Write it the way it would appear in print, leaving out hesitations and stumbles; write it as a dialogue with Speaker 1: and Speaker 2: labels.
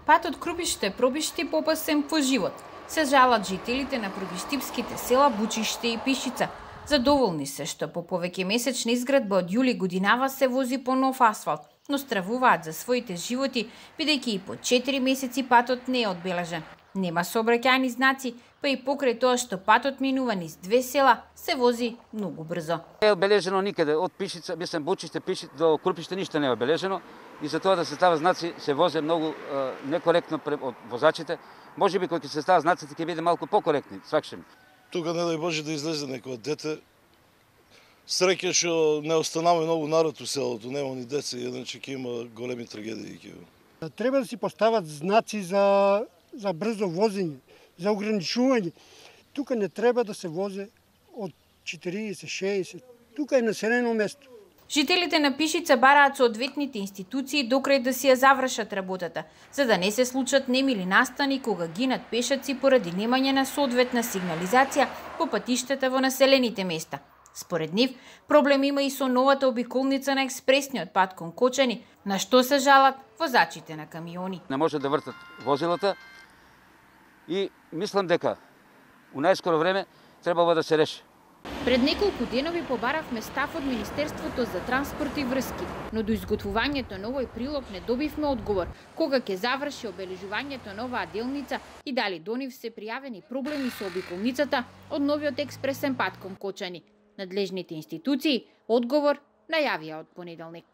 Speaker 1: Патот Крупиште-Пробишти попасен по живот. Се жалат жителите на пробиштипските села Бучиште и Пишица. Задоволни се што по повеќе месечна изградба од јули годинава се вози по нов асфалт, но стравуваат за своите животи, бидејќи и по 4 месеци патот не е одбележан. Нема сообраќајни знаци, па и покрај тоа што патот минува низ две села, се вози многу брзо.
Speaker 2: Не е обележено никаде, од Пишица, Бучиште, до Крупиште ништо не е обележено и за тоа да се става знаци се возе многу некоректно од возачите. Можеби кога ќе се става знаците ќе биде малку покоректни, свакшем.
Speaker 3: Тука не дај Боже да излезе некој дете. Среќа што не останаме многу народ у селото, нема ни деца, иначе ќе има големи трагедии.
Speaker 4: Треба да си постават знаци за брзо возење, за ограничување. Тука не треба да се возе од 40-60. Тука е населено место.
Speaker 1: Жителите на Пишица бараат соодветните институции докрај да си ја завршат работата, за да не се случат немили настани кога гинат пешаци поради немање на соодветна сигнализација по патиштата во населените места. Според нив, проблем има и со новата обиколница на експресниот пат кон Кочани, на што се жалат возачите на камиони.
Speaker 2: Не може да вртат возилата и мислам дека у најскоро време требава да се реши.
Speaker 1: Пред неколку денови побаравме став од Министерството за транспорт и врски, но до изготвувањето на овој прилог не добивме одговор кога ќе заврши обележувањето на оваа делница и дали до нив се пријавени проблеми со обиколницата од новиот експресен пат кон Кочани. Надлежните институции одговор најавија од понеделник.